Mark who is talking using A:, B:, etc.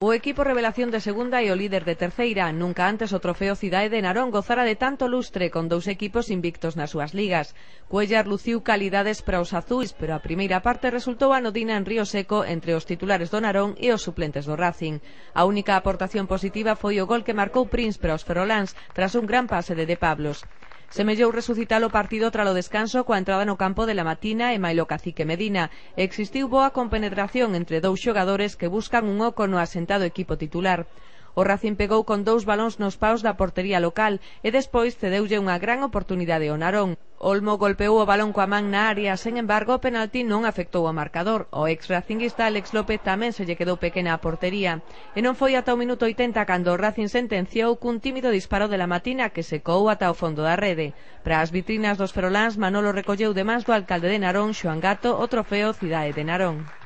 A: O equipo revelación de segunda e o líder de terceira. Nunca antes o trofeo Cidade de Narón gozara de tanto lustre con dous equipos invictos nas súas ligas. Cuellar luciu calidades para os azuis, pero a primeira parte resultou anodina en Río Seco entre os titulares do Narón e os suplentes do Racing. A única aportación positiva foi o gol que marcou Prince para os feroláns tras un gran pase de Pablos. Semellou resucitar o partido tralo descanso coa entrada no campo de La Matina e mailo Cacique Medina. Existiu boa compenetración entre dous xogadores que buscan un oco no asentado equipo titular. O Racing pegou con dous balóns nos paus da portería local e despois cedeulle unha gran oportunidade ao Narón. Olmo golpeou o balón coa man na área, sen embargo o penalti non afectou ao marcador. O ex-racinguista Alex López tamén se lle quedou pequena a portería. E non foi ata o minuto 80 cando o Racing sentenciou cun tímido disparo de La Matina que secou ata o fondo da rede. Para as vitrinas dos feroláns, Manolo recolleu de mans do alcalde de Narón, Xoán Gato, o trofeo Cidade de Narón.